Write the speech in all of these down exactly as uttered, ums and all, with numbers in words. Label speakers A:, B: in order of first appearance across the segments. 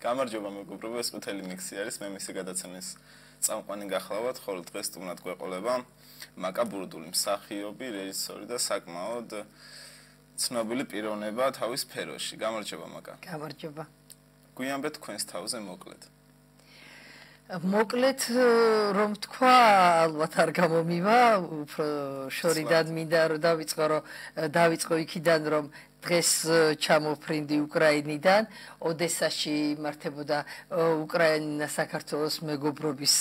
A: გამარჯობა მეგობრებო, ეს ყვითელი მიქსი არის, მე მისი გადაცემის წამყვანი გახლავთ, ხოლო დღეს სტუმრად გვეყოლება მაკა ბურდული, მსახიობი, რეჟისორი და საკმაოდ ცნობილი პიროვნება თავის სფეროში. გამარჯობა მაკა.
B: გამარჯობა.
A: გვიანბეთ თქვენს თავზე მოკლედ.
B: მოკლედ რომ თქვა, ალბათ არ გამომივა, უფრო შორიდან მინდა რომ დავიწყო, რომ დავიწყო იქიდან, რომ დღეს ჩამოფრინდი უკრაინიდან, ოდესაში იმართებოდა უკრაინა-საქართველოს მეგობრობის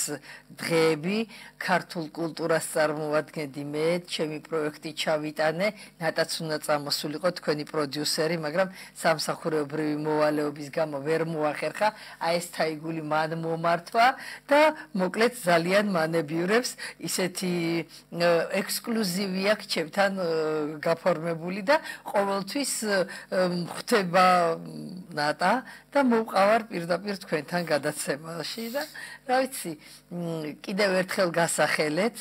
B: დღეები, ქართულ კულტურას წარმოადგენდი მე, ჩემი პროექტი ჩავიტანე, ნატაც უნდა წამოსულიყო თქვენი პროდიუსერი, მაგრამ სამსახურეობრივი მოვალეობის გამო ვერ მოახერხა, აი ეს თაიგული მან მომართვა და მოკლედ ძალიან მანებიურებს, ისეთი ექსკლუზივი აქვს ჩემთან გაფორმებული და ყოველთვის ხდება ნატა და მოვყავარ პირდაპირ თქვენთან გადაცემაში და რა ვიცი, კიდევ ერთხელ გასახელეთ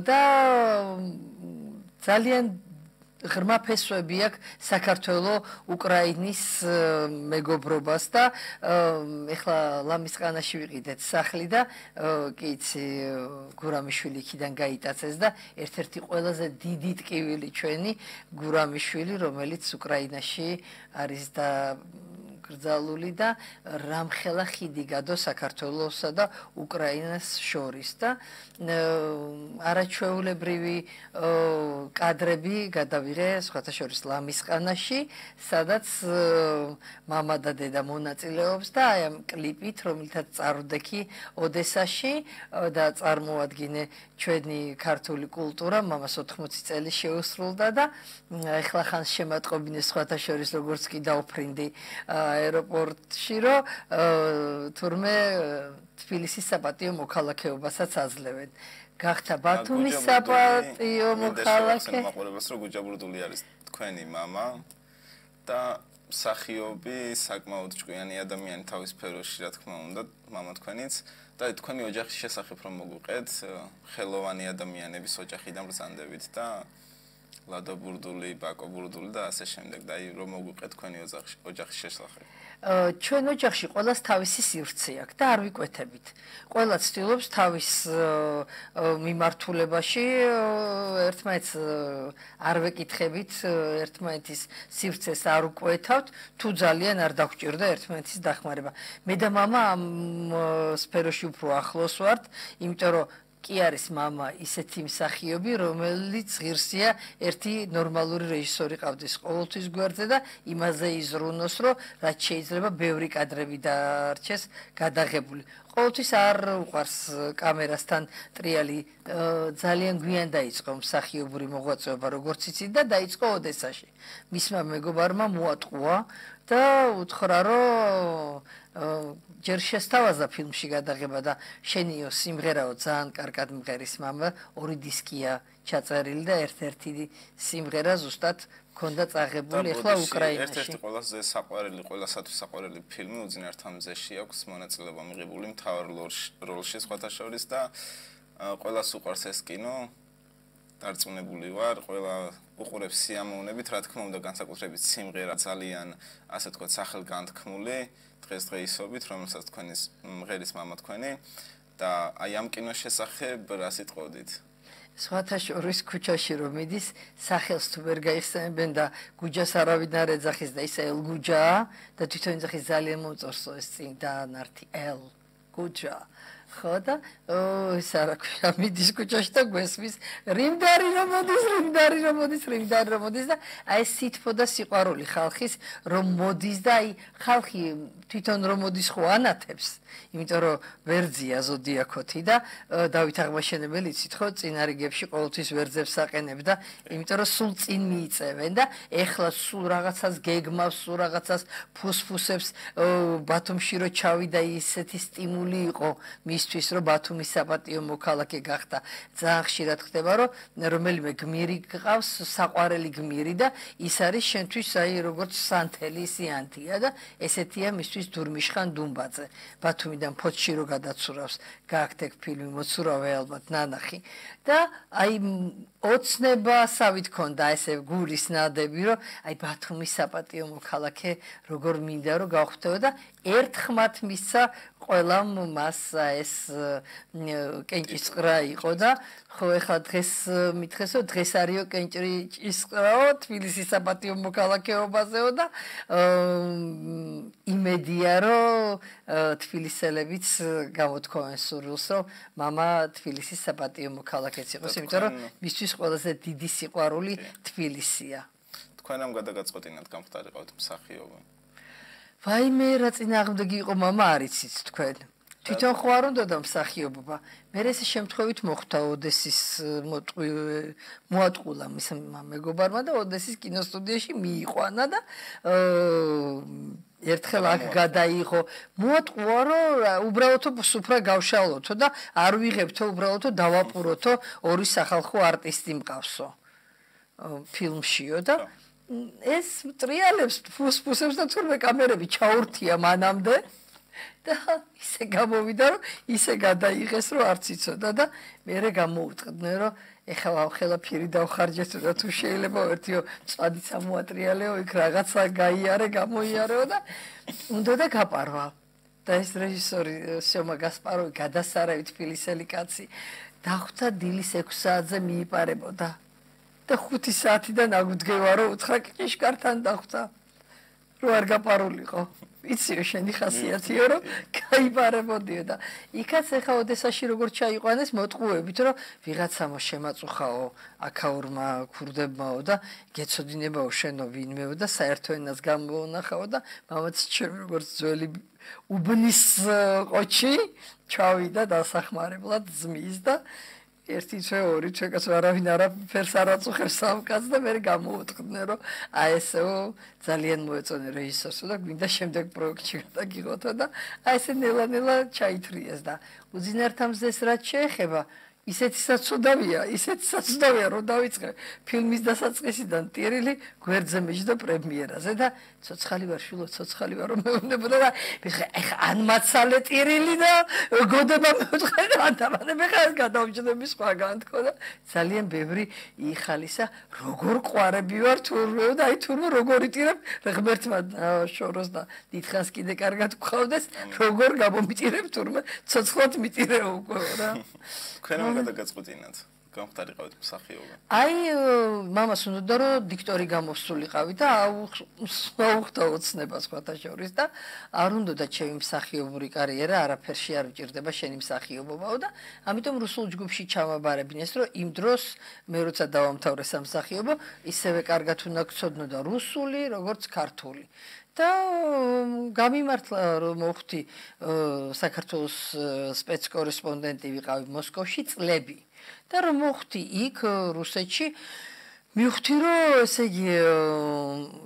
B: და ძალიან ღრმა ფესვები აქვს საქართველოს უკრაინის მეგობრობას და ეხლა ლამისყანაში ვიყიდეთ სახლი და კი იცი გურამიშვილი იქიდან გაიტაცეს და ერთ-ერთი ყველაზე დიდი ტკივილი ჩვენი გურამიშვილი, რომელიც უკრაინაში არის და გრძალული და რამხელა ხიდი გადო საქართველოსა და უკრაინას შორის და არაჩვეულებრივი კადრები გადავიღე სხვათა შორის ლამისყანაში, სადაც მამა და დედა მონაწილეობს და აი ამ კლიპით, რომელთაც წარვდექი ოდესაში და წარმოადგინე ჩვენი ქართული კულტურა, მამას ოთხმოცი წელი შეუსრულდა და ეხლა ხან შემატყობინე სხვათა შორის როგორც კი დავფრინდი აეროპორტში, რომ თურმე თბილისის საპატიო მოქალაქეობასაც აძლევენ. გახდა ბათუმის საპატიო მოქალაქე.
A: მაყურებელს რომ გუჯა ბურდული არის თქვენი მამა და მსახიობი, საკმაოდ ჭკვიანი ადამიანი თავის სფეროში, რა თქმა უნდა, მამა თქვენიც და თქვენი ოჯახის შესახებ რომ მოგვიყეთ, ხელოვანი ადამიანების ოჯახიდან ბრძანდებით და ლადო ბურდული, ბაკო ბურდული და ასე შემდეგ და აი რომ მოგვიყეთ თქვენი ოჯახის შესახებ.
B: ჩვენ ოჯახში ყველას თავისი სივრცე აქვს და არ ვიკვეთებით. ყველა ცდილობს თავის მიმართულებაში ერთმანეთს არ ვეკითხებით, ერთმანეთის სივრცეს არ უკვეთავთ, თუ ძალიან არ დაგვჭირდა ერთმანეთის დახმარება. მე და მამა ამ სფეროში უფრო ახლოს ვართ, იმიტომ რომ კი არის მამა ისეთი მსახიობი, რომელიც ღირსია ერთი ნორმალური რეჟისორი ყავდეს ყოველთვის გვერდზე და იმაზე იზრუნოს, რომ რაც შეიძლება ბევრი კადრები დაარჩეს გადაღებული. ყოველთვის არ უყვარს კამერასთან ტრიალი, ძალიან გვიან დაიწყო მსახიობური მოღვაწეობა, როგორც იცით და დაიწყო ოდესაში. მისმა მეგობარმა მოატყუა და უთხრა, რომ ჯერ შესთავაზა ფილმში გადაღება და შენიო სიმღერაო ძალიან კარგად მღერის მამა, ორი დისკია ჩაწერილი და ერთ-ერთი სიმღერა ზუსტად მქონდა წაღებული ახლა უკრაინაში.
A: ერთ-ერთი ყველაზე საყვარელი, ყველასათვის საყვარელი ფილმი უძინართა მზეში აქვს მონაწილეობა მიღებული მთავარ როლში სხვათა შორის და ყველას უყვარს ეს კინო. დარწმუნებული ვარ, ყველა უყურებს სიამოვნებით, რა თქმა უნდა, განსაკუთრებით სიმღერა ძალიან, ასე თქვა, სახელგანთქმული დღესდღეობით, რომელსაც თქვენის მღერის მამა თქვენი და აი ამ კინოს შესახებ რა სიტყოდით?
B: სხვათა შორის ქუჩაში რომ მიდის, სახელს თუ ვერ გაიხსენებენ და გუჯას არავინ არ ეძახის და ისა ელ გუჯაა და თვითონ ეძახის ძალიან მოწორსო ეს წინ დაანართი ელ გუჯა. ხო და ეს არა ქვია მიდის ქუჩაში და გვესმის რიმდარი რომ მოდის, რიმდარი რომ მოდის, რიმდარი რომ მოდის და აი ეს სითბო და სიყვარული ხალხის რომ მოდის და აი ხალხი თვითონ რომ მოდის ხო ანათებს, იმიტომ რომ ვერძია ზოდიაქოთი და დავით აღმაშენებელი იცით ხო წინარიგებში ყოველთვის ვერძებს აყენებ და იმიტომ რომ სულ წინ მიიწევენ და ეხლა სულ რაღაცას გეგმავს, სულ რაღაცას ფუსფუსებს ბათუმში რო ჩავიდა ისეთი სტიმული იყო მისთვის რომ ბათუმის საპატიო მოქალაქე გახდა. ძალიან ხშირად ხდება რომ რომელიმე გმირი გყავს, საყვარელი გმირი და ის არის შენთვის აი როგორც სანთელი სიანთია და ესეთია მისთვის დურმიშხან დუმბაძე. ბათუმიდან ფოთში რო გადაცურავს, გააქვთ ეგ ფილმი მოცურავე ალბათ ნანახი და აი ოცნებასავით ქონდა ესე გულის ნადები, რომ აი ბათუმის საპატიო მოქალაქე როგორ მინდა რომ გავხვდეო და ერთხმათ მისცა ყველამ მას ეს კენჭისყრა იყო და ხო ეხლა დღეს მითხესო დღეს არისო კენჭისყრაო თბილისის საპატიო მოქალაქეობაზეო და იმედია რომ თბილისელებიც გამოთქვამენ სურვილს რომ მამა თბილისის საპატიო მოქალაქეც იყოს იმიტომ რომ მისთვის ყველაზე დიდი სიყვარული თბილისია
A: თქვენ ამ გადაგაწყვეტინათ გამხდარიყავთ მსახიობი
B: ვაიმე რა წინააღმდეგი იყო მამა არიცით თქვენ თვითონ ხო არ უნდა და მსახიობობა მე ეს შემთხვევით მოხდა ოდესის მოატყულა მის მეგობარმა და ოდესის კინოსტუდიაში მიიყვანა და ერთხელ აქ გადაიღო მოატყუა რომ უბრალოდ სუფრა გავშალოთო და არ ვიღებთო უბრალოდ დავაპუროთო ორი სახალხო არტისტი მყავსო ფილმშიო და ეს ტრიალებს ფუსფუსებს და თურმე კამერები ჩაურთია მანამდე და ისე გამოვიდა რომ ისე გადაიღეს რომ არც იცოდა და მერე გამოუტყდნენ რომ ეხლა ხელაფირი დავხარჯეთ და თუ შეიძლება ერთიო წვადი სამოატრიალეო იქ რაღაცა გაიარე გამოიარეო და უნდა და გაპარვა და ეს რეჟისორი სიომა გასპაროვი გადასარავი თბილისელი კაცი დახვდა დილის ექვსი საათზე მიიპარებოდა და ხუთი საათიდან აგვდგევა რომ უთხრა კიშკართან დახვდა რომ არ გაპარულიყო იციო შენი ხასიათიო რომ გაიპარებოდიო და იქაც ეხა ოდესაში როგორ ჩაიყვანეს მოტყუებით რომ ვიღაცამო შემაწუხაო აქაურმა ქურდებმაო და გეცოდინებაო შენო ვინმეო და საერთო ენას გამოვნახაო და მამაც ჩემი როგორც ძველი უბნის ყოჩი ჩავიდა დასახმარებლად ძმის და ერთი თვე ორი თვე კაც არავინ არაფერს არ აწუხებს სამკაც და მე გამოუტყდნენ რომ აი ესეო ძალიან მოეწონა რეჟისორს და გვინდა შემდეგ პროექტში გადაგიღოთო და აი ესე ნელა-ნელა ჩაითრიეს და უძინართამზეს რაც შეეხება ისეთისაც უდავია ისეთისაც უდავია რომ დავიწყე ფილმის დასაწყისიდან ტირილი გვერდზე მეჯდა პრემიერაზე და ცოცხალი ვარ შვილო ცოცხალი ვარ რომ მეუბნებოდა და ეხა ან მაცალე ტირილი და გოდება მეუთხე ანტაბანები ხარ გადავჯდები სხვაგან თქო და ძალიან ბევრი იხალისა როგორ ყვარები ვარ თურმე და აი თურმე როგორ იტირებ ღმერთმა შოროს და დიდხანს კიდე კარგად გყავდეს როგორ გამომიტირებ თურმე ცოცხლად მიტირე უკვე რა
A: ქენ გადაგაწყვეტინათ გამხდარიყავით მსახიობი
B: აი მამას უნდა რომ დიქტორი გამოსულიყავი და აუხდა ოცნება სხვათა შორის და არ უნდა და ჩემი მსახიობური კარიერა არაფერში არ ვჭირდება შენი მსახიობობაო და ამიტომ რუსულ ჯგუფში ჩამაბარებინეს რომ იმ დროს მე როცა დავამთავრე სამსახიობო ისევე კარგად უნდა გცოდნო და რუსული როგორც ქართული და გამიმართლა რომ მოხდი საქართველოს სპეცკორესპონდენტი ვიყავი მოსკოვში წლები და რომ მოხდი იქ რუსეთში მივხვდი რომ ესე იგი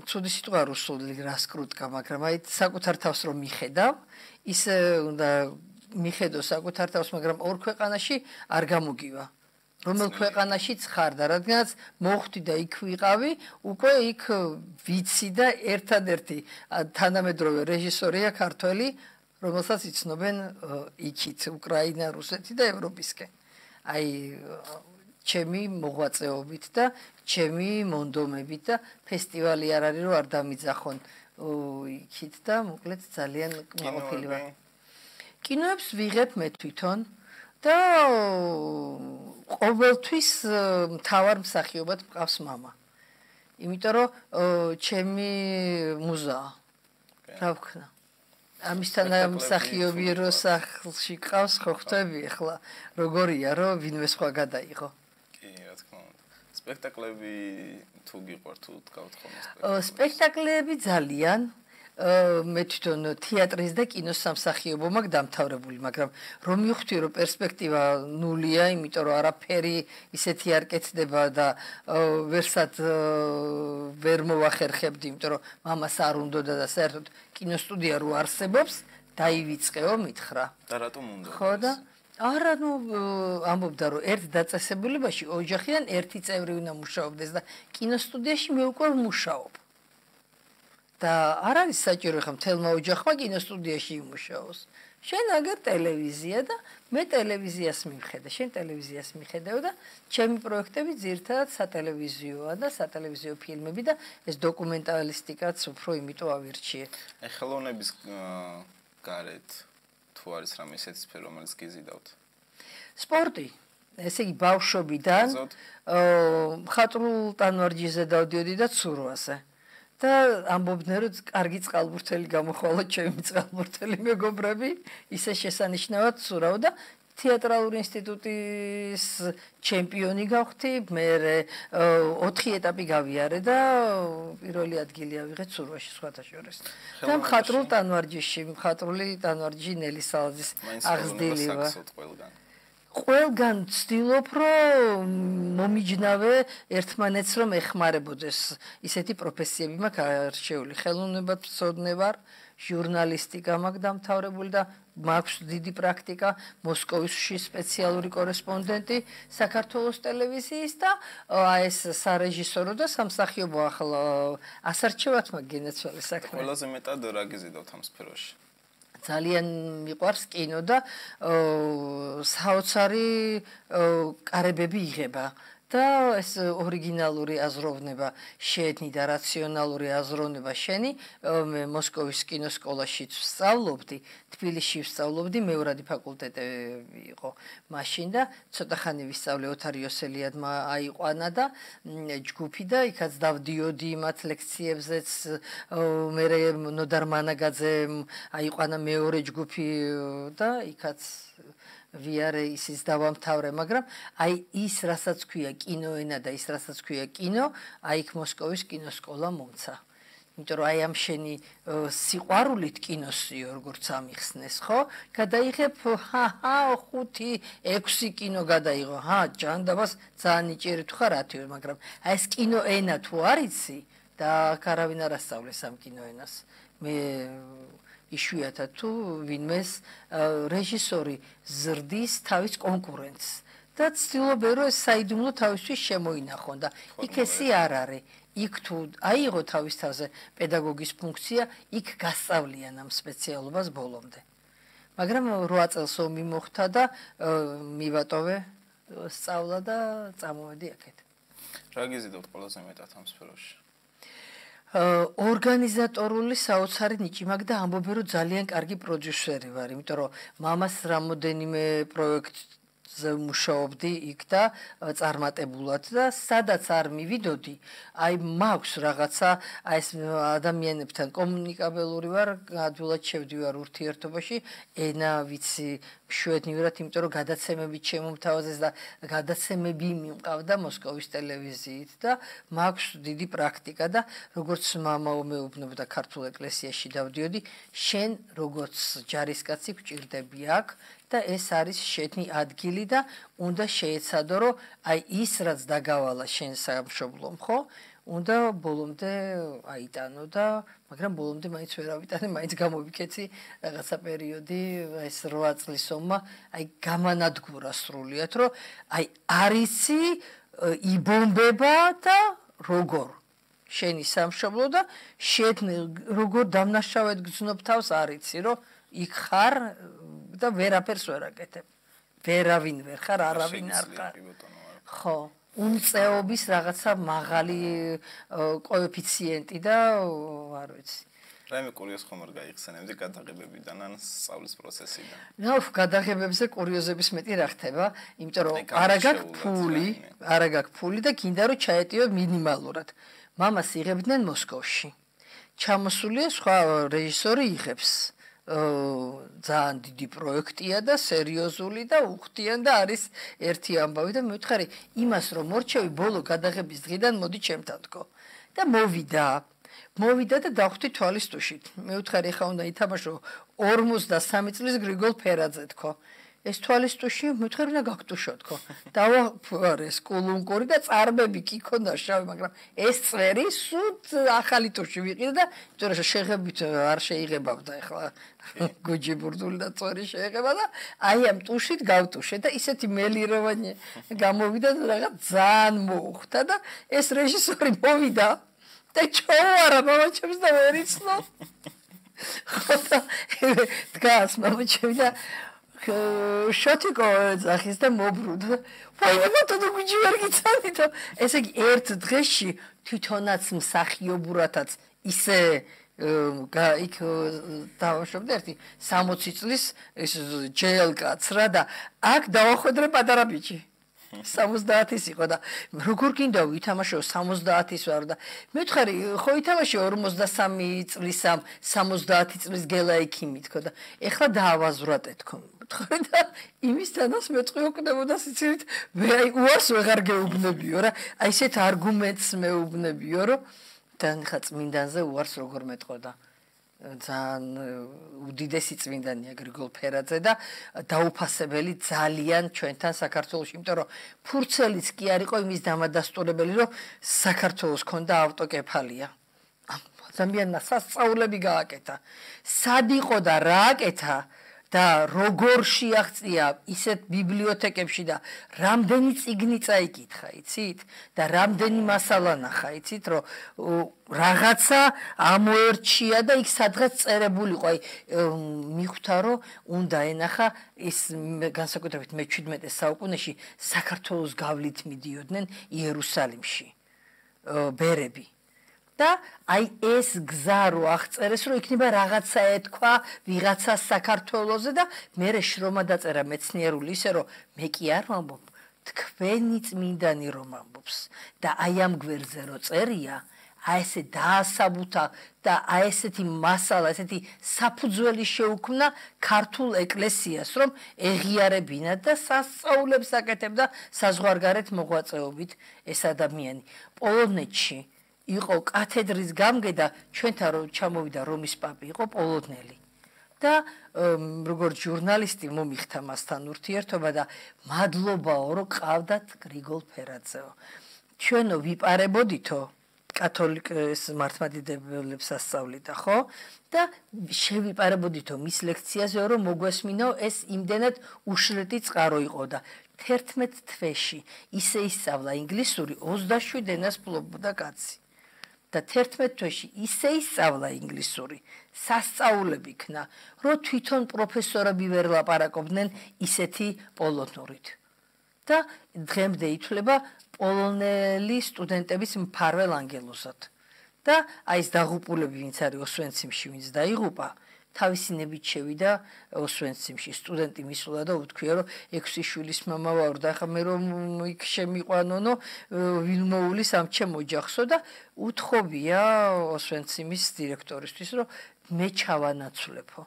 B: ცუდი სიტყვა რუსული რასკრუტკა მაგრამ აი საკუთარ თავს რომ მიხედავ ისე უნდა მიხედო საკუთარ თავს მაგრამ ორ ქვეყანაში არ გამოგივა რომელ ქვეყანაშიც ხარ და რადგანაც მოხდი და იქ ვიყავი უკვე იქ ვიცი და ერთადერთი თანამედროვე რეჟისორია ქართველი რომელსაც იცნობენ იქით უკრაინა რუსეთი და ევროპისკენ აი ჩემი მოღვაწეობით და ჩემი მონდომებით და ფესტივალი არ არის რომ არ დამიძახონ იქით და მოკლედ ძალიან მოყოლილი ვარ კინოებს ვიღებ მე თვითონ და ყოველთვის მთავარ მსახიობად მყავს მამა. იმიტომ რომ ჩემი მუზაა. რა ვქნა? ამისთან მსახიობი რო სახლში ყავს ხო ხვდები ახლა როგორია რომ ვინმე სხვა გადაიღო.
A: კი, რა თქმა უნდა. სპექტაკლები თუ გიყვართ თუ თქვათ ხოლმე
B: სპექტაკლები ძალიან მე თვითონ თეატრის და კინოს სამსახიობო მაგ დამთავრებული, მაგრამ რომ მივხვდი რომ პერსპექტივა ნულია, იმიტომ რომ არაფერი ისეთი არ კეთდება და ვერსად ვერ მოვახერხებდი, იმიტომ რომ მამას არ უნდოდა და საერთოდ კინოსტუდია რო არსებობს, დაივიწყეო მითხრა.
A: და რატომ უნდა?
B: ხო და არა ნუ ამბობდა რომ ერთ დაწესებულებაში ოჯახიდან ერთი წევრი უნდა მუშაობდეს და კინოსტუდიაში მე უკვე ვმუშაობ. და არ არის საჭირო ხა მთელმა ოჯახმა კინოსტუდიაში იმუშაოს. შენ აგერ ტელევიზია და მე ტელევიზიას მივხედე, შენ ტელევიზიას მიხედავ და ჩემი პროექტები ძირთადად სატელევიზიოა და სატელევიზიო ფილმები და ეს დოკუმენტალისტიკაც უფრო იმიტომ ავირჩიე.
A: აი ხელოვნების გარეთ თუ არის რამე ისეთი სფერო, რომელიც გიზიდავთ?
B: სპორტი. ესე იგი ბავშვობიდან მხატვრულ ტანვარჯიშზე დავდიოდი და ცურვაზე. და ამბობდნენ რომ კარგი წყალბურთელი გამოხვალა ჩემი წყალბურთელი მეგობრები, ისე შესანიშნავად ცურავ და თეატრალური ინსტიტუტის ჩემპიონი გავხდი, მე ოთხი ეტაპი გავიარე და პირველი ადგილი ავიღე ცურვაში სხვათა შორის. და მხატვრულ ტანვარჯიშში, მხატვრული ტანვარჯიში ნელი სალაძის აღზრდილია. ყველგან ვცდილობ რომ მომიჯნავე ერთმანეთს რომ ეხმარებოდეს ისეთი პროფესიები მაქვს არჩეული ხელოვნებათმცოდნე ვარ ჟურნალისტიკა მაქვს დამთავრებული და მაქვს დიდი პრაქტიკა მოსკოვში სპეციალური კორესპონდენტი საქართველოს ტელევიზიის და ეს სარეჟისორო და სამსახიობო ახლა ასარჩევად მაქვს გენაცვალე საქმე.
A: ყველაზე მეტად რა გიზიდავთ ამ სფეროში?
B: ძალიან მიყვარს კინო და საოცარი კარებები იღება და ეს ორიგინალური აზროვნება შენი და რაციონალური აზროვნება შენი მე მოსკოვის კინოსკოლაში ვსწავლობდი, თბილისში ვსწავლობდი, მეორადი ფაკულტეტი იყო მაშინ და ცოტა ხანი ვისწავლე ოთარ იოსელიადმა აიყვანა და ჯგუფი და იქაც დავდიოდი მათ ლექციებზეც მე ნოდარ მანაგაძემ აიყვანა მეორე ჯგუფი და იქაც ვიარე ისიც დავამთავრე, მაგრამ აი ის რასაც ქვია კინოენა და ის რასაც ქვია კინო, აი იქ მოსკოვის კინოსკოლა მომცა. იმიტომ რომ აი ამ შენი სიყვარულით კინოსიო როგორც ამიხსნეს, ხო? გადაიღებ ჰა ხუთი, ექვსი კინო გადაიღო. ჰა, ჯანდაბას ძალიან იჭერე თუ ხარ ათივე, მაგრამ აი ეს კინოენა თუ არიცი და არავინ არ ასწავლეს ამ კინოენას. მე იშვიათად თუ ვინმეს რეჟისორი ზრდის თავის კონკურენტს და ცდილობენ რომ ეს საიდუმლო თავისთვის შემოინახონ და იქ ესი არ არის იქ თუ აიღო თავის თავზე პედაგოგის ფუნქცია იქ გასწავლიან ამ სპეციალობას ბოლომდე მაგრამ რვა წელს ომი მოხდა და მივატოვე სწავლა და წამოვედი აქეთ
A: რა გიზიდავთ ყველაზე მეტად ამ სფეროში
B: ორგანიზატორული საოცარი ნიჭი მაქვს და ამბობენ რომ ძალიან კარგი პროდიუსერი ვარ, იმიტომ რომ მამას რამოდენიმე პროექტზე მუშაობდი იქ და წარმატებულად და სადაც არ მივიდოდი, აი მაქვს რაღაცა, აი ეს ადამიანებთან კომუნიკაბელური ვარ, ადვილად შევდივარ ურთიერთობაში, ენა ვიცი მშვენივრად, იმიტომ რომ გადაცემები შემომთავაზეს და გადაცემები მიმყავდა მოსკოვის ტელევიზიით და მაქვს დიდი პრაქტიკა და როგორც მამა მეუბნებოდა ქართულ ეკლესიაში დავდიოდი, შენ როგორც ჯარისკაცი გვჭირდები აქ და ეს არის შენი ადგილი და უნდა შეეცადო რომ აი ის რაც დაგავალა შენ სამშობლომ, ხო? უნდა ბოლომდე აიტანო და მაგრამ ბოლომდე მაინც ვერ ავიტანე, მაინც გამოვიქეცი რაღაცა პერიოდი, ეს რვა წლის ომმა, აი გამანადგურა სრულიად, რომ აი არიცი იბომბება და როგორ შენი სამშობლო და შენ როგორ დამნაშავედ გრძნობ თავს არიცი, რომ იქ ხარ და ვერაფერს ვერ აკეთებ. ვერავინ ვერ ხარ, არავინ არ ხარ. ხო. უმწეობის რაღაცა მაღალი კოეფიციენტი და არ ვიცი.
A: რაიმე კურიოზ ხომ არ გაიხსენებდი გადაღებებიდან ან სწავლის პროცესიდან?
B: ნუ გადაღებებზე კურიოზების მეტი რა ხდება, იმიტომ რომ არა გაქვს ფული, არა გაქვს ფული და გინდა რომ ჩაეტიო მინიმალურად. მამას იღებდნენ მოსკოვში. ჩამოსულია სხვა რეჟისორი იღებს. ძალიან დიდი პროექტია და სერიოზული და უხდიან და არის ერთი ამბავი და მე ვთხარი იმას რომ მორჩევი ბოლო გადაღების დღიდან მოდი ჩემთან თქო და მოვიდა მოვიდა და დავხვდი თვალის ტუშით მე ვთხარი ხა უნდა ითამაშო ორმოცდასამი წლის გრიგოლ ფერაძე თქო ეს თვალის ტუში მე ვთხარი უნდა გაგტუშო თქო დავაფარე სკულუნკური და წარმები კი ქონდა შავი მაგრამ ეს წვერი სულ ახალი ტუში ვიყიდა და იმიტომ რომ შეღებით არ შეიღებავდა ახლა გოჯი ბურდული და წვერი შეეღება და აი ამ ტუშით გავტუშე და ისეთი მელიროვანი გამოვიდა და რაღაც ძალიან მოუხდა და ეს რეჟისორი მოვიდა და ჩოვარა მამაჩემს და ვერ იცნო. ხოდა დგას მამაჩემი და შოთიკო ზახის და მობრუნდა. ვაიმე თუ გიჯი ვერ გიცანითო. ესე იგი ერთ დღეში თვითონაც მსახიობურათაც ისე იქ დავაშვებდი ერთი სამოცი წლის ეს ჯეილკაც რა და აქ დავახვედრე პატარა ბიჭი. სამოცდაათის იყო და როგორ გინდა ვითამაშო სამოცდაათის ვარ და მეთხარი ხო ითამაშე ორმოცდასამი წლისამ სამოცდაათი წლის გელა ექიმი თქო და ეხლა დაავაზვრატე თქო მეთხარი და იმისთანაც მეწყი ოკნებოდა სიცილით აი უარს ვეღარ გეუბნებიო რა აი ესეთ არგუმენტს მეუბნებიო რომ და ხა წმინდანზე უარს როგორ მეტყოდა ძალიან უდიდესი წმინდანია გრიგოლ ფერაძე და დაუფასებელი ძალიან ჩვენთან საქართველოში, იმიტომ რომ ფურცელიც კი არ იყო იმის დამადასტურებელი, რომ საქართველოს ქონდა ავტოკეფალია. ადამიანმა სასწაულები გააკეთა. სად იყო და რა აკეთა და როგორ შეაღწია ისეთ ბიბლიოთეკებში და რამდენი წიგნი წაიკითხა, იცით? და რამდენი მასალა ნახა, იცით, რომ რაღაცა ამოერჩია და იქ სადღაც წერებული იყო, აი მიხვდა, რომ უნდა ენახა ის განსაკუთრებით მეჩვიდმეტე საუკუნეში საქართველოს გავლით მიდიოდნენ იერუსალიმში ბერები. და აი ეს გზა რო აღწერეს რომ იქნება რაღაცა ეთქვა ვიღაცა საქართველოზე და მე შრომა დაწერა მეცნიერული ისე რომ მე კი არ ვამბობ თქვენი წმინდანი რომ ამბობს და აი ამ გვერდზე რო წერია აი ესე დაასაბუთა და აი ესეთი მასალა ესეთი საფუძველი შეუქმნა ქართულ ეკლესიას რომ ეღიარებინა და სასწაულებს აკეთებდა საზღვარგარეთ მოღვაწეობით ეს ადამიანი პოლონეთში იყო კათედრის გამგე და ჩვენთან რომ ჩამოვიდა რომის პაპი იყო პოლონელი და როგორც ჟურნალისტი მომიხთა მასთან ურთიერთობა და მადლობაო რომ ყავდათ გრიგოლ ფერაძეო ჩვენო ვიპარებოდითო კათოლიკეს მართლმადიდებლებს ასწავლიდა ხო და შევიპარებოდითო მის ლექციაზე რომ მოგვესმინო ეს იმდენად უშრეთი წყარო იყო და თერთმეტ თვეში ისე ისწავლა ინგლისური ოცდაშვიდ ენას ფლობოდა კაცი და თერთმეტ თვეში ისე ისწავლა ინგლისური სასწაულები ქნა რომ თვითონ პროფესორები ვერ ლაპარაკობდნენ ისეთი პოლონურით და დღემდე ითვლება პოლონელი სტუდენტების მფარველ ანგელოზად და აი ეს დაღუპულები ვინც არის ოსვენციმში ვინც დაიღუპა თავისი ნებით შევიდა ოსვენციმში სტუდენტი მისულა და უთქვია რომ ექვსი შვილის მამა ვარ და ახლა მე რომ იქ შემიყვანონო ვილმოულის ამ ჩემ ოჯახსო და უთხოვია ოსვენციმის დირექტორისთვის რომ მე ჩავანაცვლებო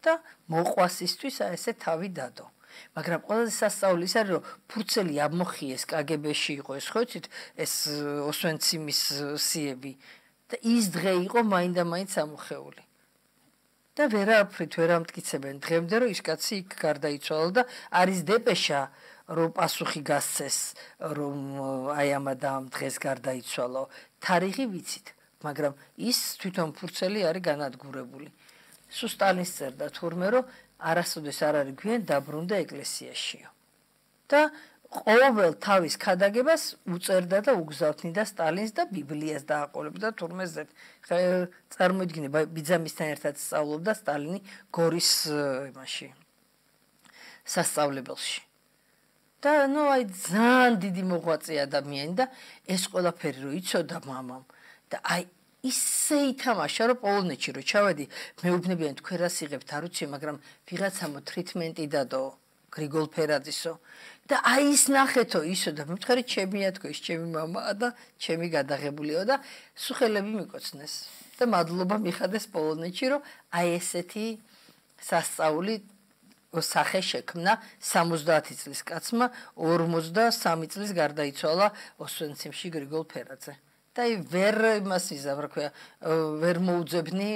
B: და მოყვას ისთვის აი ესე თავი დადო მაგრამ ყველაზე სასწაული ის არის რომ ფურცელი ამოხიეს კაგებეში იყო ეს ხო იცით ეს ოსვენციმის სიები და ის დღე იყო მაინდა-მაინც ამოხეული და ვერაფრით ვერ ამტკიცებენ დღემდე რომ ის კაცი იქ გარდაიცვალა და არის დეპეშა რომ პასუხი გასცეს რომ აი ამ ამ დღეს გარდაიცვალა თარიღი ვიცით მაგრამ ის თვითონ ფურცელი არის განადგურებული სულ სტალინს წერდა თურმე რომ არასოდეს არ არის გვიან დაბრუნდა ეკლესიაშიო და ყოველ თავის ქადაგებას უწერდა და უგზავნიდა სტალინს და ბიბლიას დააყოლებდა თურმე ზედ წარმოიდგინე ბიძამისთან ერთად სწავლობდა სტალინი გორის იმაში სასწავლებელში და ნუ აი ძალიან დიდი მოღვაწე ადამიანი და ეს ყველაფერი რო იცოდა მამამ და აი ისე ითამაშა რომ პოლონეთში რო ჩავედი მეუბნებიან თქვენ რას იღებთ არ ვიცი მაგრამ ვიღაცა მოტრიტმენტი დადო გრიგოლ ფერაძისო და აი ის ნახეთო ისო და მითხარი ჩემია თქო ის ჩემი მამაა და ჩემი გადაღებულიო და სუხელები მიკოცნეს და მადლობა მიხადეს პოლონეთში რომ აი ესეთი სასწაული სახე შექმნა სამოცდაათი წლის კაცმა ორმოცდასამი წლის გარდაიცვალა ოსვენციმში გრიგოლ ფერაძე და აი ვერ იმას იზამ რა ქვია ვერ მოუძებნი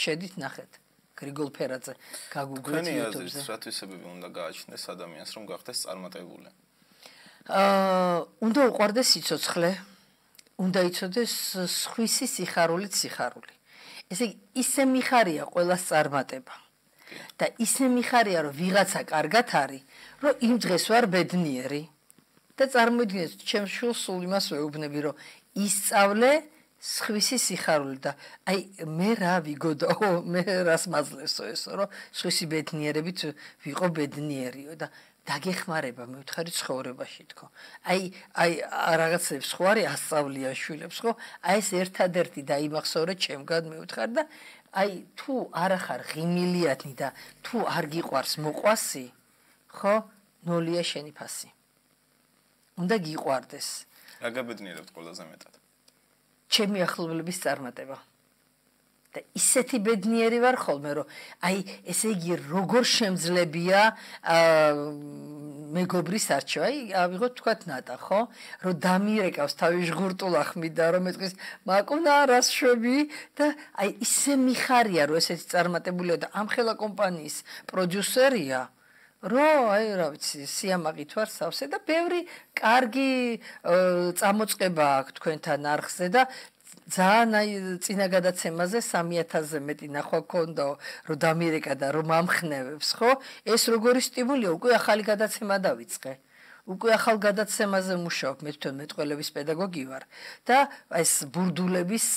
B: შედით ნახეთ გრიგოლ ფერაძე გაგუგლეთ YouTube-ზე.
A: რათვისებები უნდა გააჩნდეს ადამიანს რომ გახდეს წარმატებული?
B: აა უნდა უყვარდეს სიცოცხლე, უნდა იცოდეს სხვისი სიხარულით სიხარული. ესე იგი ისე მიხარია ყველას წარმატება. და ისე მიხარია რომ ვიღაცა კარგად არის, რომ იმ დღეს ვარ ბედნიერი. და წარმოიდგინეთ, ჩემს შულს სულ იმას ვეუბნები, რომ ისწავლე სხვისი სიხარული და აი მე რა ვიგოდო მე რას მაძლევსო ესო რომ სხვისი ბედნიერებით ვიყო ბედნიერიო და დაგეხმარება მივთხარი ცხოვრებაში თქო აი აი რაღაცებს ხო არის ასწავლიან შვილებს ხო აი ეს ერთადერთი დაიმახსოვრე ჩემგან მივთხარ და აი თუ არა ხარ ღიმილიანი და თუ არ გიყვარს მოყვასი ხო ნოლია შენი ფასი უნდა გიყვარდეს
A: რა გაბედნიერებთ ყველაზე მეტად
B: ჩემი ახლობლების წარმატება და ისეთი ბედნიერი ვარ ხოლმე რომ აი ესე იგი როგორ შემძლებია მეგობრის არჩევა აი ავიღოთ თქვათ ნატა ხო რომ დამირეკავს თავის ჟღურტულა ხმიდა რომ მეტყვის მაკუნა რას შვები და აი ისე მიხარია რომ ესეთი წარმატებულია და ამ ხელა კომპანიის პროდიუსერია რომ აი რა ვიცი სიამაყით ვარ სავსე და ბევრი კარგი წამოწყება აქვს თქვენთან არხზე და ძალიან აი წინა გადაცემაზე სამი ათასზე მეტი ნახვა გქონდა რომ დამირეკა და რომ ამხნევებს ხო ეს როგორი სტიმულია უკვე ახალი გადაცემა დავიწყე უკვე ახალ გადაცემაზე მუშაობ მე თვითონ მეტყველების პედაგოგი ვარ და ეს ბურდულების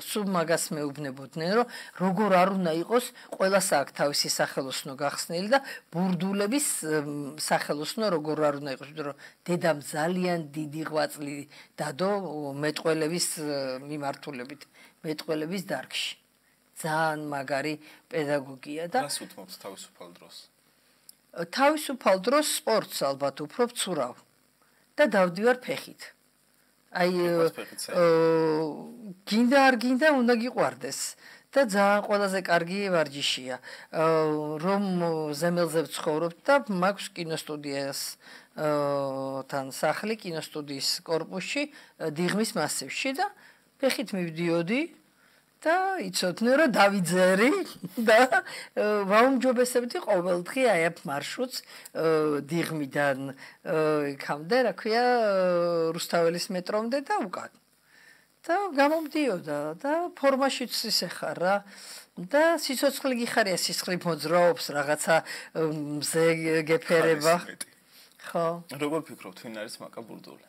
B: სულ მაგას მეუბნებოდნენ რომ როგორ არ უნდა იყოს ყველას აქვს თავისი სახელოსნო გახსნილი და ბურდულების სახელოსნო როგორ არ უნდა იყოს იმიტომ რომ დედამ ძალიან დიდი ღვაწლი დადო მეტყველების მიმართულებით მეტყველების დარგში ძალიან მაგარი პედაგოგია და
A: რას უთმობთ თავისუფალ დროს
B: თავისუფალ დროს სპორტს ალბათ უფრო ვცურავ და დავდივარ ფეხით. აი გინდა არ გინდა უნდა გიყვარდეს და ძალიან ყველაზე კარგი ვარჯიშია. რომ ზემელზე ვცხოვრობ და მაქვს კინოსტუდიას თან სახლი კინოსტუდიის კორპუსში დიღმის მასივში და ფეხით მივდიოდი და იცოდნენ რომ დავიძერი და ვაუმჯობესებდი ყოველდღე აი ამ მარშრუტს დიღმიდან იქამდე, რა ქვია, რუსთაველის მეტრომდე და უკან. და გამომდიოდა და ფორმაშიც ისე ხარ რა და სიცოცხლე გიხარია სისხლი მოძრაობს რაღაცა მზე გეფერება. ხო.
A: როგორ ფიქრობთ, ვინ არის მაკა ბურდული?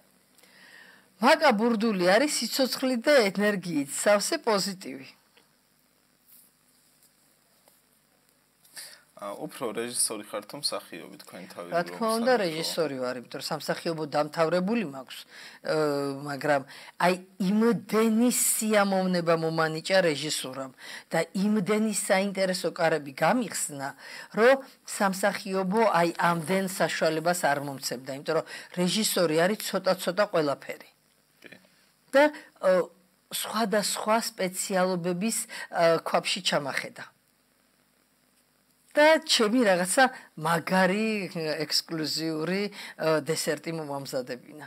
B: მაკა ბურდული არის სიცოცხლე და ენერგიით, სავსე პოზიტივი.
A: უფრო რეჟისორი ხარ თუ მსახიობი თქვენ თავი
B: რა თქმა უნდა რეჟისორი ვარ, იმიტომ რომ სამსახიობო დამთავრებული მაქვს, მაგრამ აი იმდენი სიამოვნება მომანიჭა რეჟისურამ და იმდენი საინტერესო კარები გამიხსნა, რომ სამსახიობო აი ამდენ საშუალებას არ მომცემდა, იმიტომ რომ რეჟისორი არის ცოტა-ცოტა ყველაფერი. და სხვადასხვა სპეციალობების ქვაბში ჩამახედა. და ჩემი რაღაცა მაგარი ექსკლუზიური დესერტი მომამზადებინა.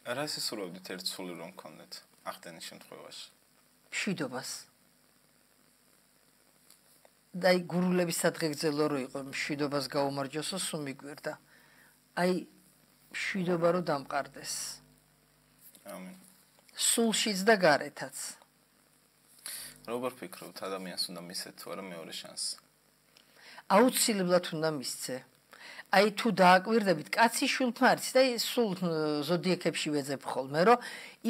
A: რა ისურვებდით ერთ სული რომ გქონდეთ ახდენის შემთხვევაში?
B: მშვიდობას. და აი გურულების სადღეგრძელო რო იყო მშვიდობას გაუმარჯოსო სულ მიგვერდა. აი მშვიდობა რო დამყარდეს.
A: ამინ.
B: სულშიც და გარეთაც.
A: როგორ ფიქრობთ, ადამიანს უნდა მისცეთ თუ არა მეორე შანსი?
B: აუცილებლად უნდა მისცე. აი თუ დააკვირდებით, კაცი შულფარიც და სულ ზოდიაქებში ვეძებ ხოლმე, რომ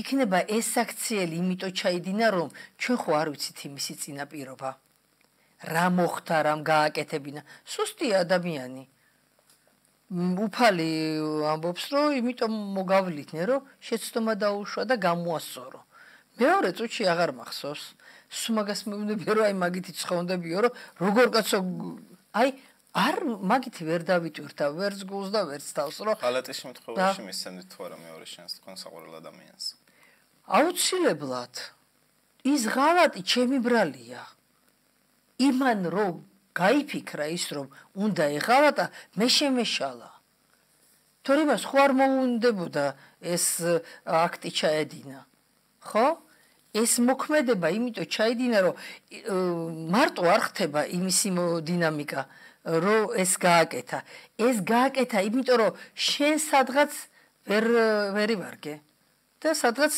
B: იქნება ეს აქციელი იმიტომ ჩაიდინა, რომ ჩვენ ხო არ ვიცით იმისი წინაპირობა. რა მოხდა, რამ გააკეთებინა. სუსტია ადამიანი. უფალი ამბობს, რომ იმიტომ მოგავლითნე, რომ შეცდომა დაუშვა და გამოასწორო. მეორე წუთში აღარ მახსოვს. სულ მაგას მეუბნებია, რომ აი მაგითი ცხონდებიო, რომ როგორ კაცო აი არ მაგითი ვერ დავიტვირთა, ვერც გულს და ვერც თავს, რომ
A: ხალატის შემთხვევაში მისცემთ თუ არა მეორე შანსს თქვენ საყვარელ ადამიანს?
B: აუცილებლად. ის ღალატი ჩემი ბრალია. იმან რომ გაიფიქრა ის რომ უნდა ეღალატა, მე შემეშალა. თორემ მას ხო არ მოუნდებოდა ეს აქტი ჩაედინა. ხო? ეს მოქმედება იმიტომ ჩაიდინა, რომ მარტო არ ხდება იმის დინამიკა, რომ ეს გააკეთა. ეს გააკეთა იმიტომ, რომ შენ სადღაც ვერ ვერ ივარგე და სადღაც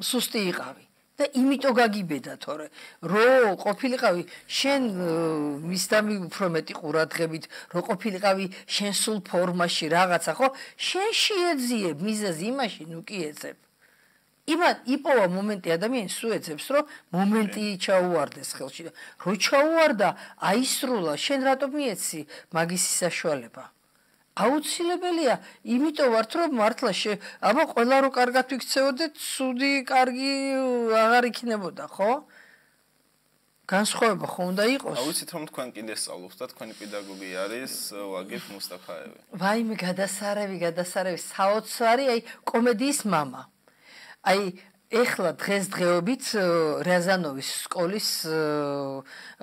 B: სუსტი იყავი. და იმიტომ გაგიბედა თორე რო ყოფილიყავი შენ მისდამი უფრო მეტი ყურადღებით რო ყოფილიყავი შენ სულ ფორმაში რაღაცა ხო შენ შეეძიებ მიზეზი იმაში ნუ კი ეძებ იმან იპოვა მომენტი ადამიანს სუეცებს, რომ მომენტი ჩაუვარდეს ხელში და რო ჩაუვარდა, აისრულა, შენ რატომ მიეცი მაგისი საშუალება? აუცილებელია, იმიტომ ვართ, რომ მართლა აბა ყველა რო კარგად ვიქცეოდეთ, სუდი კარგი აღარ იქნებოდა, ხო? განსხვავება ხო უნდა იყოს?
A: აუცით რომ თქვენ კიდე სწავლობთ და თქვენი პედაგოგი არის ვაგიფ მუსტაფაევი.
B: ვაიმე, გადასარევი, გადასარევი, საოცარი, აი კომედიის მამა. აი ეხლა დღესდღეობით რაზანოვის სკოლის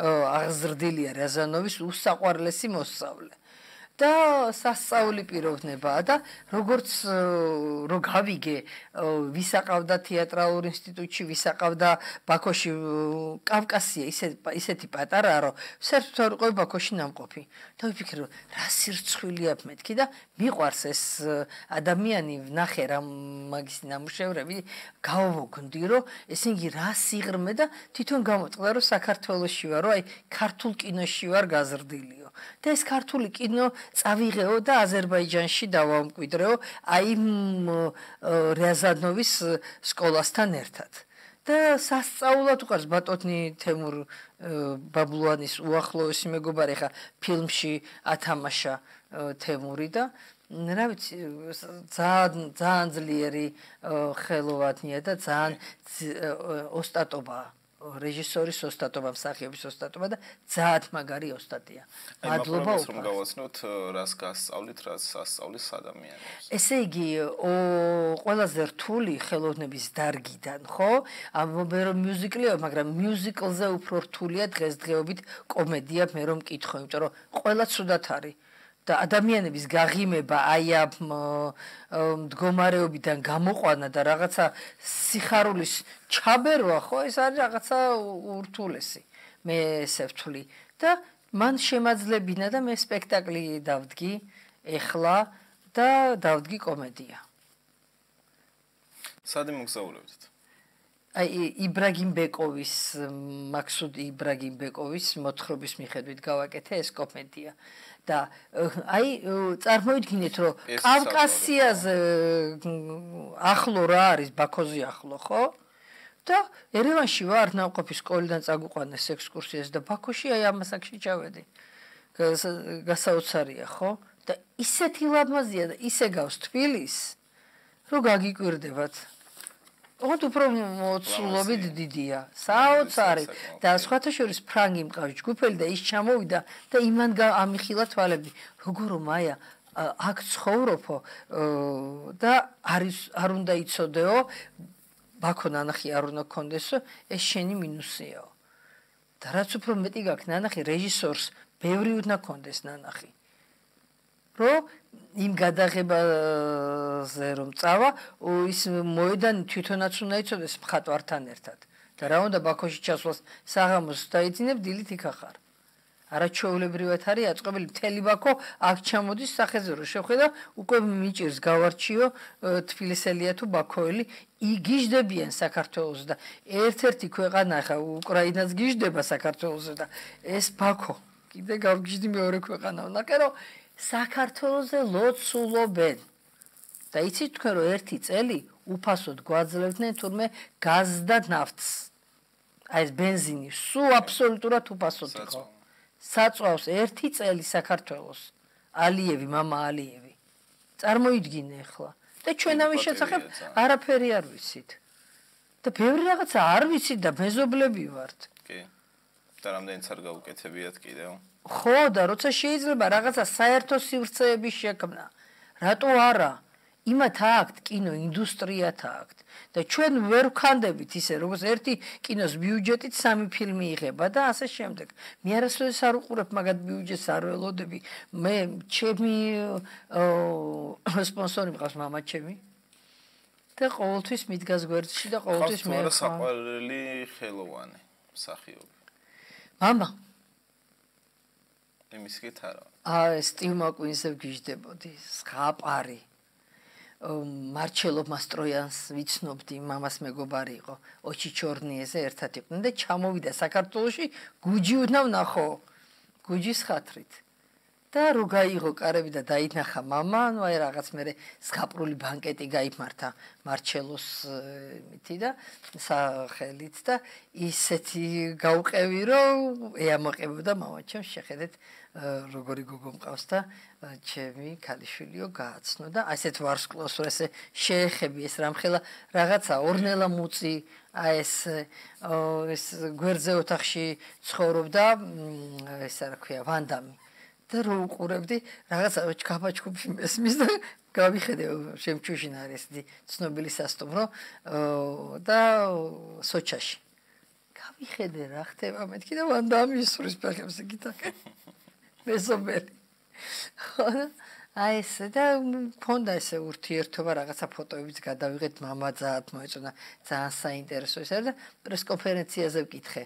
B: აღზრდილია რაზანოვის უსაყვარლესი მოსწავლე. და სასწაული პიროვნებაა და როგორც რო გავიგე ვისაყავდა თეატრალურ ინსტიტუტში ვისაყავდა ბაქოში კავკასია ისე ისეთი პატარაა რომ საერთოდ არ ყო ბაქოში ნამყოფი და ვიფიქრე რომ რა სირცხვილია მეთქი და მიყვარს ეს ადამიანი ვნახე რა მაგის ნამუშევრები გავოგონდი რომ ესენი რა სიღრმე და თვითონ გამოწყდა რომ საქართველოში ვარ რომ აი ქართულ კინოში ვარ გაზრდილიო და ეს ქართული კინო წავიღეო და აზერბაიჯანში დავამკვიდრეო აი რაზანოვის სკოლასთან ერთად და სასწაულად უყარს ბატონი თემურ ბაბლუანის უახლოესი მეგობარი ხა ფილმში ათამაშა თემური და რა ვიცი ძალიან ძალიან ძლიერი ხელოვანია და ძალიან ოსტატობაა რეჟისორის ოსტატობა, მსახიობის ოსტატობა და ძალიან მაგარი ოსტატია.
A: მადლობა უყურებთ. რომ გავაცნოთ, რას გასწავლით, რას ასწავლის ადამიანებს.
B: ესე იგი, ყველაზე რთული ხელოვნების დარგიდან, ხო? ამბობენ რომ მიუზიკლია, მაგრამ მიუზიკლზე უფრო რთულია დღესდღეობით კომედია, მე რომ მკითხო, იმიტომ რომ ყველა ცუდად არის. და ადამიანების გაღიმება აი ამ მდგომარეობიდან გამოყვანა და რაღაცა სიხარულის ჩაბერვა ხო ეს არის რაღაცა ურთულესი მე ესე ვთვლი და მან შემაძლებინა და მე სპექტაკლი დავდგი ეხლა და დავდგი კომედია.
A: სად მოგზაურებთ?
B: აი იბრაგიმ ბეკოვის მაქსუდ იბრაგიმ ბეკოვის მოთხრობის მიხედვით გავაკეთე ეს კომედია. და აი წარმოიდგინეთ რომ კავკასიაზე ახლო რა არის ბაქოზე ახლო ხო და ერევანში ვარ ნავყოფის სკოლიდან წაგვიყვანეს ექსკურსიას და ბაქოში აი ამასაკში ჩავედი გასაოცარია ხო და ისეთი ლამაზია და ისე გავს თბილის რომ გაგიკვირდებათ ოღონდ უფრო მოცულობით დიდია საოცარი და სხვათა შორის ფრანგი მყავს ჯგუფელი და ის ჩამოვიდა და იმან ამიხილა თვალები როგორ მაია აქ ცხოვრობო და არის არ უნდა იცოდეო ბაქო ნანახი არ უნდა გქონდესო ეს შენი მინუსიაო და რაც უფრო მეტი გაქვს ნანახი რეჟისორს ბევრი უნდა გქონდეს ნანახი რომ იმ გადაღებაზე რომ წავა ის მოედანი თვითონაც უნდა იცოდეს მხატვართან ერთად და რა უნდა ბაქოში ჩასვლას საღამოს დაიძინებ დილით იქ ახარ არაჩვეულებრივად არის აწყობილი მთელი ბაქო აქ ჩამოდის სახეზე რომ შეხვედრა უკვე მიჭირს გავარჩიო თბილისელია თუ ბაქოელი იგიჟდებიან საქართველოს და ერთ-ერთი ქვეყანა ხა უკრაინაც გიჟდება საქართველოს და ეს ბაქო კიდე გავგიჟდი მეორე ქვეყანა ნაკე რომ საქართველოზე ლოცულობენ და იცით თქვენ რომ ერთი წელი უფასოდ გვაძლევდნენ თურმე გაზს და ნავთს აი ეს ბენზინი სულ აბსოლუტურად უფასოდ იყო საწვავს ერთი წელი საქართველოს ალიევი მამა ალიევი წარმოიდგინე ახლა და ჩვენ ამის შესახებ არაფერი არ ვიცით და ბევრი რაღაცა არ ვიცით და მეზობლები ვართ
A: კი და რამდენიც არ გავუკეთებიათ კიდევ
B: ხო და როცა შეიძლება რაღაცა საერთო სივრცეების შექმნა რატო არა იმათ აქვთ კინო ინდუსტრიათ აქვთ და ჩვენ ვერ ვქანდებით ისე როგორც ერთი კინოს ბიუჯეტით სამი ფილმი იღება და ასე შემდეგ მე არასოდეს არ უყურებ მაგათ ბიუჯეტს არ ველოდები მე ჩემი სპონსორი მყავს მამა ჩემი და ყოველთვის მიდგას გვერდში და ყოველთვის მე
A: ხარ საყვარელი ხელოვანი მსახიობი
B: მამა
A: იმის გითარა
B: აა სტივ მაკუინზე ვგიჟდებოდი სხაპარი მარჩელო მასტროიანს ვიცნობდი მამას მეგობარი იყო ოჩი ჩორნიეზე ერთად იყვნენ და ჩამოვიდა საქართველოში გუჯი უნდა ვნახო გუჯის ხათრით და რო გაიღო კარები და დაინახა მამა, ну აი რაღაც მე სკაპრული ბანკეტი გაიმართა მარჩელოს მითი და სახელით და ისეთი გაუყევი რომ ეამოყებოდა მამა ჩემს შეხედეთ როგორი გოგო მყავს და ჩემი ქალიშვილიო გააცნო და ასეთ ვარსკვლავს რომ ესე შეეხები ეს რამხელა რაღაცა ორნელა მუწი აი ეს ეს გვერდზე ოთახში ცხოვრობდა ეს რა ქვია ვანდამი და რო უყურებდი რაღაცა ჩქაფაჩქუფი მესმის და გავიხედე შემჩუშინ არის ცნობილი სასტუმრო და სოჩაში გავიხედე რა ხდება მეთქი და ვანდამი სურის ფეხებს გიტაკე მეზობელი ხო აი ესე და მქონდა ესე ურთიერთობა რაღაცა ფოტოებიც გადავიღეთ მამა ძალიან მოეწონა ძალიან საინტერესო ის არის და პრესკონფერენციაზე ვკითხე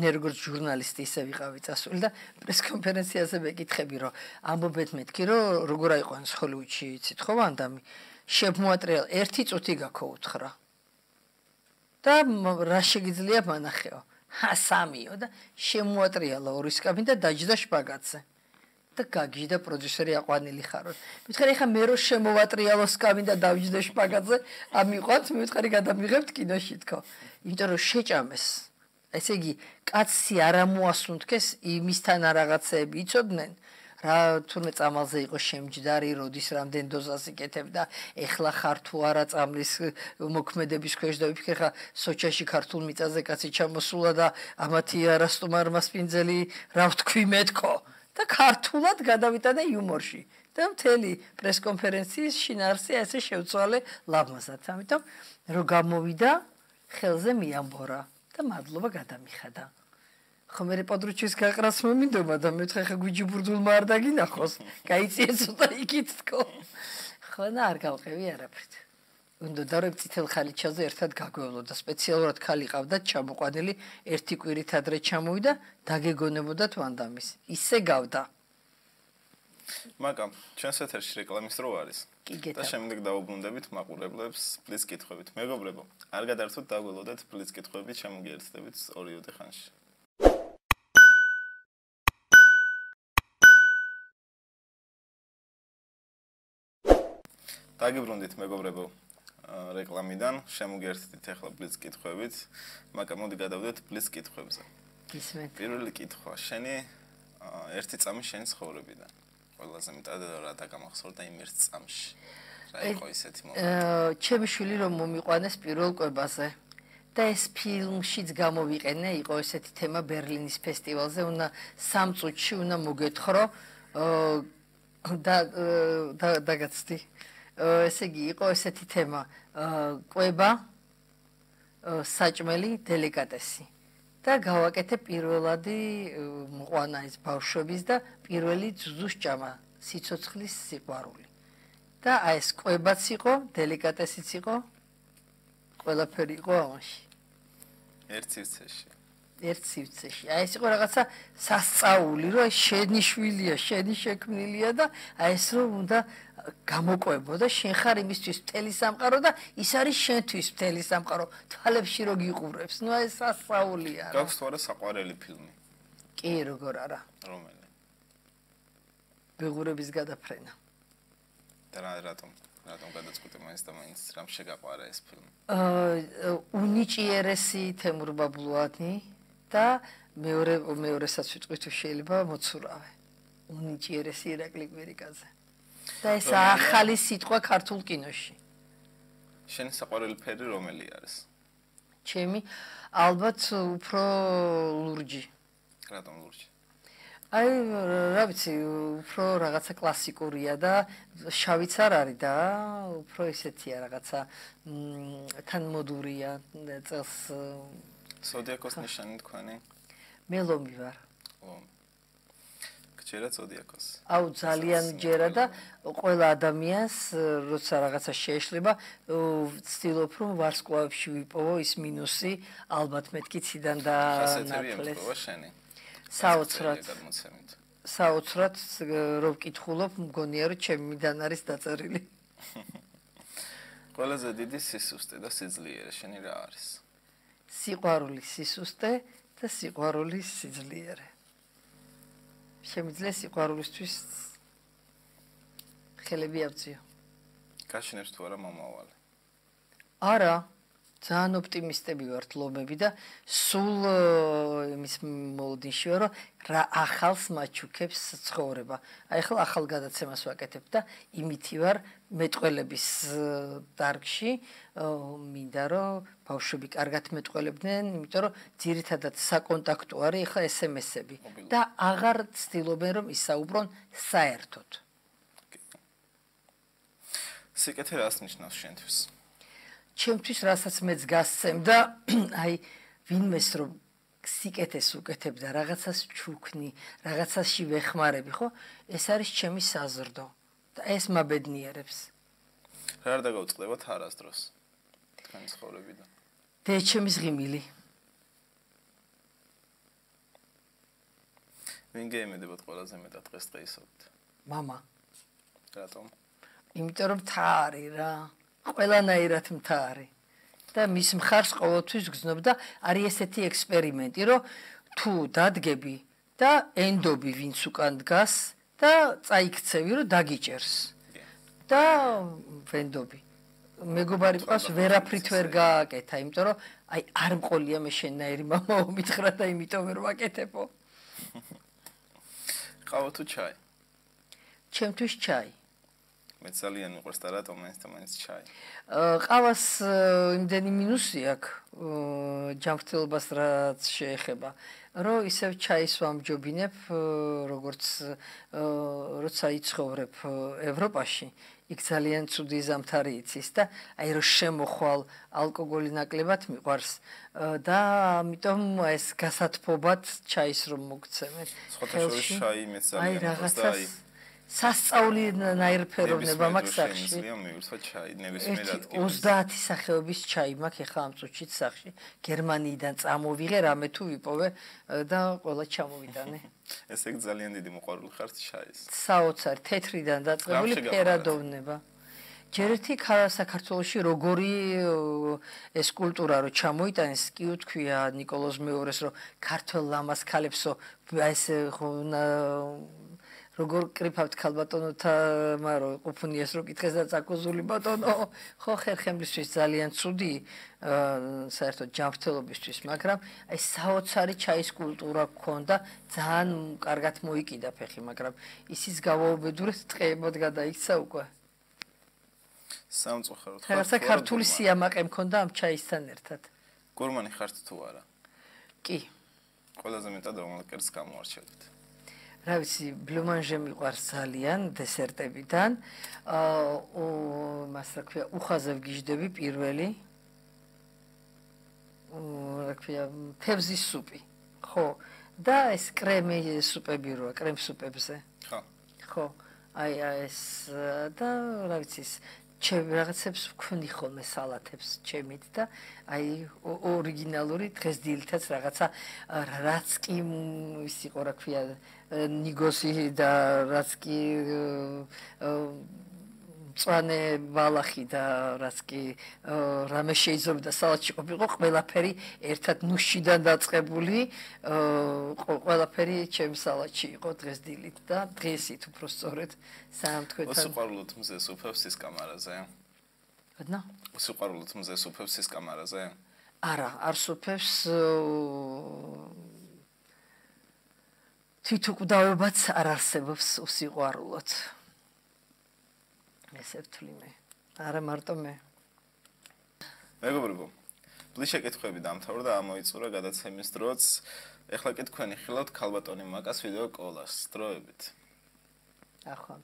B: მე როგორც ჟურნალისტი ისე ვიყავი წასული და პრესკონფერენციაზე ვეკითხები რომ ამბობთ მეთქი რომ როგორ აიყვანს ჰოლივუდში იცით ხო ვანდამი შემოატრიალ ერთი წუთი გაქო უთხრა და რა შეგიძლია მანახეო ჰა სამიო და შემოატრიალა ორი სკამი და დაჯდა შპაგატზე და გაგიჟდა პროდიუსერი აყვანილი ხარო. მითხარი ხა მე რო შემოვატრიალო სკამი და დავჯდე შპაგატზე, ამიყვანთ, მითხარი გადამიღებთ კინოში თქო. იმიტომ რომ შეჭამეს. ესე იგი, კაცი არ ამოასუნთქეს იმისთან რაღაცეები იცოდნენ. რა თურმე წამალზე იყო შემჯდარი, როდის რამდენ დოზას იკეთებდა, ეხლა ხარ თუ არა წამლის მოქმედების ქვეშ და ვიფიქრე ხა სოჩაში ქართულ მიწაზე კაცი ჩამოსულა და ამათი არასტუმარ მასპინძელი რა ვთქვი მეთქო. და ქართულად გადავიტანა იუმორში და მთელი პრესკონფერენციის შინაარსი ესე შევცვალე ლამაზად. ამიტომ რო გამოვიდა ხელზე მიამბორა და მადლობა გადამიხადა. ხო მე პოდრუჩის გაყრას მომინდომა და მე ხა ხა გვიჯი ბურდულმა არ დაგინახოს. გაიწიე ცოტა იქით თქო. ხო და არ გავყევი არაფრით. უნდა დარებ წითელ ხალიჩაზე ერთად გაგვევლო და სპეციალურად ხალი ყავდა ჩამოყვანილი ერთი კვირით ადრე ჩამოვიდა დაგეგონებოდათ ვანდამის ისე გავდა
A: მაგამ ჩვენს ეთერში რეკლამის დრო არის და შემდეგ დავუბრუნდებით მაყურებლებს პლიზ კითხვებით მეგობრებო არ გადაერთოთ დაგველოდეთ პლიზ კითხვებით შემოგიერთდებით ორი ოდე ხანში დაგიბრუნდით მეგობრებო რეკლამიდან შემოგერთდით ახლა პლიზ კითხვებით, მაგრამ მოდი გადავდეთ პლიზ კითხვებზე.
B: გისმენთ.
A: პირველი კითხვა, შენი ერთი წამი შენი ცხოვრებიდან. ყველაზე მეტად რა დაგამახსოვრდა იმ ერთ წამში. რა იყო ისეთი მომენტი?
B: ჩემი შვილი რომ მომიყვანეს პირველ კვებაზე და ეს ფილმშიც გამოვიყენე, იყო ესეთი თემა ბერლინის ფესტივალზე, უნდა სამ წუთში უნდა მოგეთხოვრო და დაგაცდი. ესე იგი იყო ესეთი თემა კვება საჭმელი დელიკატესი და გავაკეთე პირველადი მყვანა ის ბავშვების და პირველი ძუძუსჭამა სიცოცხლის სიყვარული და აი ეს კვებაც იყო დელიკატესიც იყო ყველაფერი იყო ამაში
A: ერთ სივრცეში
B: ერთ სივრცეში აი ეს იყო რაღაცა სასწაული რომ შენი შვილია შენი შექმნილია და აი ეს რომ უნდა გამოყვებო და შენ ხარ იმისთვის მთელი სამყარო და ის არის შენთვის მთელი სამყარო თვალებში რო გიყურებს ნუ ეს სასწაულია რა
A: გაქვს თუ არა საყვარელი ფილმი
B: კი როგორ არა
A: რომელი
B: ბეღურების გადაფრენა
A: და რა რატომ რატომ გადაწყვეტე მაინც და მაინც რამ შეგაყვარა ეს ფილმი
B: აა უნიჭიერესი თემურ ბაბლუანი და მეორე მეორესაც ვიტყვი თუ შეიძლება მოცურავე უნიჭიერესი ირაკლი კვირიკაძე და ეს ახალი სიტყვა ქართულ კინოში.
A: შენი საყვარელი ფერი რომელი არის?
B: ჩემი ალბათ უფრო ლურჯი.
A: რატომ ლურჯი?
B: აი რა ვიცი, უფრო რაღაცა კლასიკურია და შავიც არ არის და უფრო ისეთია რაღაცა თანმოდურია წელს
A: ზოდიაკოს ნიშანი თქვენი?
B: მე ლომი ვარ.
A: ლომი. ჯერა ზოდიაკოს.
B: აუ ძალიან ჯერა და ყველა ადამიანს როცა რაღაცა შეეშლება ვცდილობ რომ ვარსკვლავებში ვიპოვო ის მინუსი ალბათ მეთქი ციდან და
A: ნათლეს.
B: საოცრად საოცრად რო ვკითხულობ მგონია რომ ჩემიდან არის დაწერილი.
A: ყველაზე დიდი სისუსტე და სიძლიერე შენი რა არის?
B: სიყვარული სისუსტე და სიყვარული სიძლიერე. შემიძლია სიყვარულისთვის ხელები ავწიო.
A: გაშინებს თუ არა მომავალი?
B: არა, ძალიან ოპტიმისტები ვართ ლომები და სულ იმის მოლოდინში ვარ, რომ რა ახალს მაჩუქებს ცხოვრება. აი ახლა ახალ გადაცემას ვაკეთებ და იმითი ვარ მეტყველების დარგში, მინდა რომ ბავშვები კარგად მეტყველებდნენ, იმიტომ რომ ძირითადად საკონტაქტო არის ახლა ეს ემ ესები და აღარ ცდილობენ რომ ისაუბრონ საერთოდ.
A: სიკეთე რას ნიშნავს შენთვის?
B: ჩემთვის რასაც მეც გასცემდა, აი ვინმეს რომ სიკეთეს უკეთებ და რაღაცას ჩუქნი, რაღაცაში ვეხმარები, ხო? ეს არის ჩემი საზრდო და ეს მაბედნიერებს.
A: რა არ დაგავწყდებათ არასდროს თქვენი ცხოვრებიდან?
B: დეჩემის ღიმილი.
A: ვინ გეიმედებათ ყველაზე მეტად დღესდღეობით?
B: მამა.
A: რატომ?
B: იმიტომ რომ მთა არის რა. ყველანაირად მთა არის. და მის მხარს ყოველთვის გრძნობ და არის ესეთი ექსპერიმენტი, რომ თუ დადგები და ენდობი ვინც უკან დგას და წაიქცევი, რომ დაგიჭერს. და ვენდობი. მეგობარი ყავს ვერაფრით ვერ გააკეთა, იმიტომ რომ აი არ მყოლია მე შენნაირი მამაო მითხრა და იმიტომ ვერ ვაკეთებო.
A: ყავა თუ ჩაი?
B: ჩემთვის ჩაი.
A: მე ძალიან მიყვარს და რატომ ეს და მაინც ჩაი?
B: ყავას იმდენი მინუსი აქვს ჯანმრთელობას რაც შეეხება, რომ ისევ ჩაის ვამჯობინებ, როგორც როცა იცხოვრებ ევროპაში, იქ ძალიან ცუდი ზამთარი იცის და აი რომ შემოხვალ ალკოგოლი ნაკლებად მიყვარს და ამიტომ ეს გასათფობად ჩაის რომ მოგცემენ.
A: სხვათა შორის ჩაი მეც ძალიან მიყვარს და აი
B: სასწაულნაირფეროვნება მაქვს სახში.
A: მივირთვა ჩაი, ნებისმიერ ადგილას.
B: ოცდაათი სახეობის ჩაი მაქვს ახლა ამ წუთშიც სახში. გერმანიიდან წამოვიღე, რამე თუ ვიპოვე და ყველა ჩამოვიტანე.
A: ესე იგი ძალიან დიდი მოყვარული ხართ ჩაის.
B: საოცარი, თეთრიდან დაწყებული ფერადოვნება. ჯერ ერთი საქართველოში როგორი ეს კულტურა რო ჩამოიტანეს, კი უთქვია ნიკოლოზ მეორეს, რომ ქართველ ლამას ქალებსო ეს როგორ კრიფავთ ქალბატონოთა, მარო ყოფნიეს რო კითხეს და წაკუზული ბატონო, ხო ხერხემლისთვის ძალიან ცუდი საერთოდ ჯანმრთელობისთვის, მაგრამ აი საოცარი ჩაის კულტურა გქონდა, ძალიან კარგად მოიკიდა ფეხი, მაგრამ ისიც გავაუბედურეთ, ტყეებად გადაიქცა უკვე.
A: სამწუხაროდ
B: ხარ. რაღაცა ქართული სიამაყე მქონდა ამ ჩაისთან ერთად.
A: გურმანი ხართ თუ არა?
B: კი.
A: ყველაზე მეტად რომელ კერძს გამოარჩევთ?
B: რა ვიცი, ბლუმანჟე მიყვარს ძალიან დესერტებიდან. აა, მას რა ქვია, უხაზე ვგიჟდები პირველი. რა ქვია, თევზის სუპი. ხო. და ეს კრემი სუპები როა, კრემ სუპებზე.
A: ხო.
B: ხო. აი ეს და რა ვიცი, ჩემ რაღაცებს ვქონი ხოლმე სალათებს ჩემით და აი ორიგინალური დღეს დილითაც რაღაცა რაც კი ის იყო რა ქვია ნიგოსი და რაც კი მწვანე ბალახი და რაც კი რამე შეიძლება სალათში ყოფილიყო ყველაფერი ერთად ნუშიდან დაწყებული ყველაფერი ჩემ სალათში იყო დღეს დილით და დღესით უფრო სწორედ სამთქვეთან
A: უსიყვარულოდ მზეს უფევს ის კამარაზე?
B: რატო?
A: უსიყვარულოდ მზეს უფევს ის კამარაზე?
B: არა, არ სუფევს თვითუკვდავებაც არ არსებობს უსიყვარულოდ. ესე ვთვლი მე. არა მარტო მე.
A: მეგობრებო, ბლის შეკითხვები დამთავრდა, ამოიწურა გადაცემის დროც. ეხლა კი თქვენი ხილავთ ქალბატონი მაკას ვიდეო კოლას. დროებით.
B: ახლა